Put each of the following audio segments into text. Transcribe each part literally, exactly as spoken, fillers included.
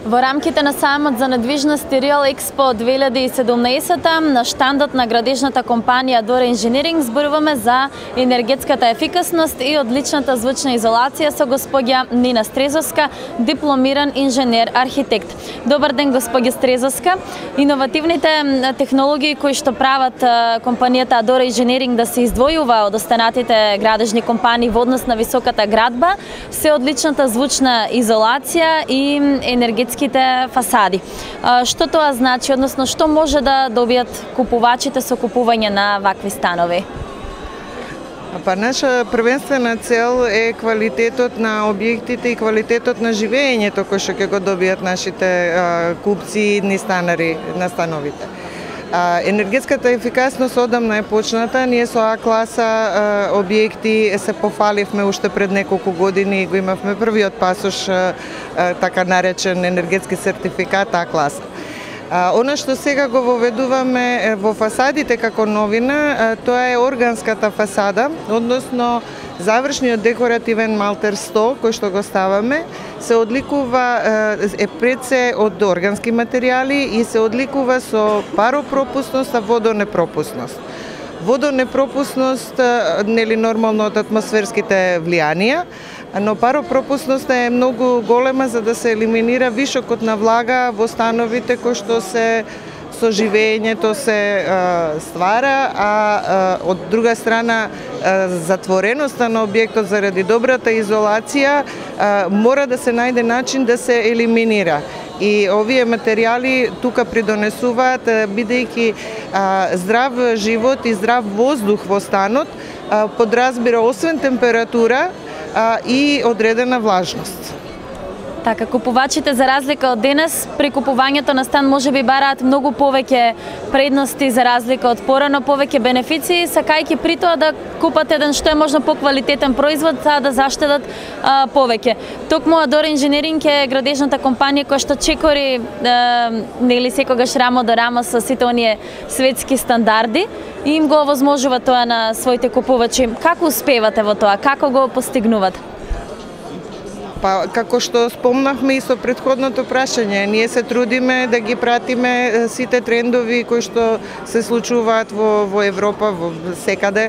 Во рамките на сајмот за недвижности Real Expo две илјади и седумнаесета на штандот на градежната компанија Dora Engineering зборуваме за енергетската ефикасност и одличната звучна изолација со господја Нина Стрезовска, дипломиран инженер архитект. Добар ден, господја Стрезовска. Иновативните технологии кои што прават компанијата Dora Engineering да се издвојува од останатите градежни компании во однос на високата градба се одличната звучна изолација и енергетски фасади. Што тоа значи, односно што може да добијат купувачите со купување на вакви станови? Па наша првенствена цел е квалитетот на објектите и квалитетот на живеењето кој што ќе го добијат нашите а, купци и идни станари на становите. А, енергетската ефикасност одамна е почната. Ние со А класа а, објекти се пофаливме уште пред неколку години, го имавме првиот пасош, а, а, така наречен енергетски сертификат А класа. А, она што сега го воведуваме во фасадите како новина, а, тоа е органската фасада, односно завршниот декоративен малтер сто кој што го ставаме се одликува, е пред се од органски материјали и се одликува со паропропусност, а водонепропусност. Водонепропусност, нели нормално од атмосферските влијанија, но паропропусноста е многу голема за да се елиминира вишокот на влага во становите кои што се со живеењето се а, ствара, а, а од друга страна а, затвореноста на објектот заради добрата изолација а, мора да се најде начин да се елиминира. И овие материјали тука придонесуваат, бидејќи здрав живот и здрав воздух во станот а, подразбира освен температура а, и одредена влажност. Така, купувачите за разлика од денес, при купувањето на стан можеби бараат многу повеќе предности за разлика од порано, повеќе бенефиции, сакајќи при тоа да купат еден што е можно поквалитетен производ, за да заштедат а, повеќе. Токму Dora Engineering е градежната компанија која што чекори а, нели секогаш рамо до рамо со сите оние светски стандарди и им го овозможува тоа на своите купувачи. Како успевате во тоа? Како го постигнувате? Па, како што спомнавме и со предходното прашање, ние се трудиме да ги пратиме сите трендови кои што се случуваат во, во Европа, во секаде,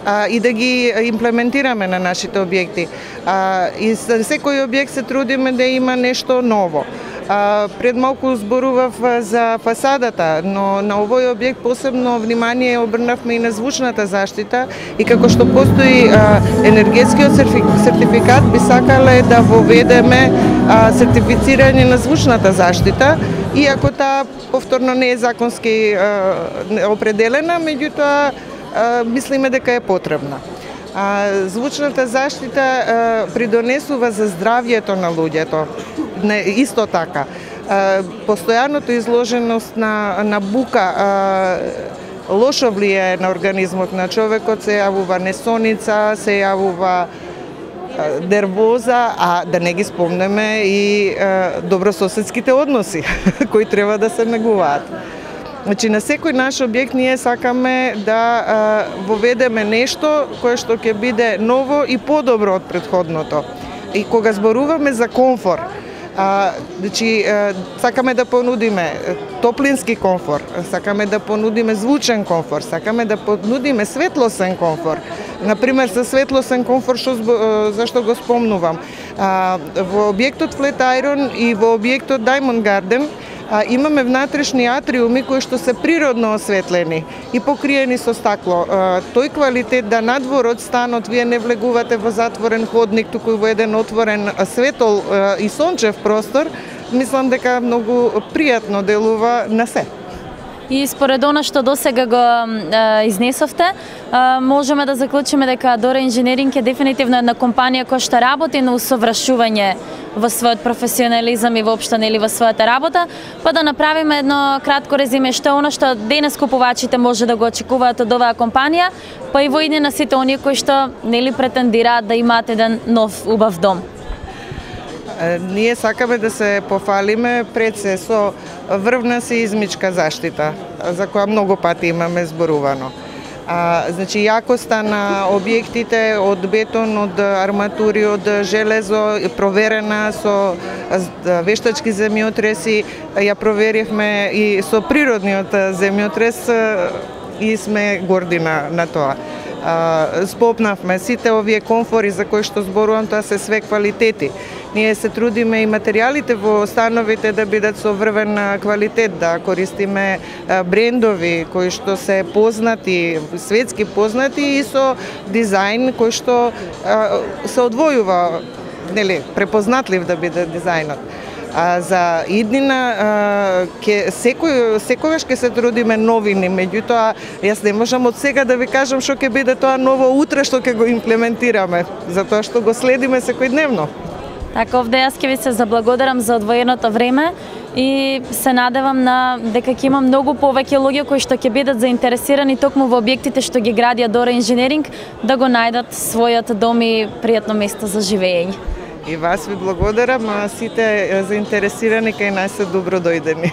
а, и да ги имплементираме на нашите објекти. А, и за секој објект се трудиме да има нешто ново. А, пред малку зборував за фасадата, но на овој објект посебно внимание обрнавме и на звучната заштита и како што постои а, енергетскиот сертификат, би сакале да воведеме а, сертифицирање на звучната заштита, иако таа повторно не е законски а, определена, меѓутоа а, мислиме дека е потребна. А, звучната заштита а, придонесува за здравјето на луѓето. Не, исто така. А, постојаното изложеност на, на бука а, лошо влијае на организмот на човекот, се јавува несоница, се јавува а, нервоза, а да не ги спомнеме и а, добрососедските односи кои треба да се негуваат. Значи, на секој наш објект ние сакаме да а, воведеме нешто кое што ќе биде ново и подобро од претходното. И кога зборуваме за комфор, а, значи, а, сакаме да понудиме топлински комфор, сакаме да понудиме звучен комфор, сакаме да понудиме светлосен комфор. Например, со светлосен комфор, што, зашто го спомнувам, а, во објектот Flat Iron и во објектот Diamond Garden А, имаме внатрешни атриуми кои што се природно осветлени и покриени со стакло. А, тој квалитет да надвор од станот вие не влегувате во затворен ходник, туку во еден отворен светол а, и сончев простор, мислам дека многу пријатно делува на се. И според она што досега го е, изнесовте, е, можеме да заклучиме дека Dora Engineering е дефинитивно една компанија која што работи на усовршување во својот професионализам и воопшто нели во својата работа, па да направиме едно кратко резиме што е она што денес купувачите може да го очекуваат од оваа компанија, па и во идни на сите оние кои што нели претендираат да имаат еден нов убав дом. Ние сакаме да се пофалиме пред се со врвна сеизмичка заштита, за која многу пати имаме зборувано. А, значи, јакоста на објектите од бетон, од арматури, од железо, проверена со вештачки земјотреси, ја проверивме и со природниот земјотрес и сме горди на, на тоа. А, спопнавме сите овие комфори за кои што зборувам, тоа се све квалитети. Ние се трудиме и материјалите во становите да бидат со врвен квалитет, да користиме брендови кои што се познати, светски познати и со дизајн кој што а, се одвојува, нели, препознатлив да биде дизајнот. А за иднина ке секој секогаш ќе се трудиме новини, меѓутоа јас не можам од сега да ви кажам што ќе биде тоа ново утре што ќе го имплементираме, затоа што го следиме секојдневно. Така, овде јас ќе ви се заблагодарам за одвоеното време и се надевам на дека ќе има многу повеќе луѓе кои што ќе бидат заинтересирани токму во објектите што ги гради Адора Инженеринг да го најдат својот дом и пријатно место за живење. И вас ви благодарам, а сите заинтересирани кај нас се добро дојдени.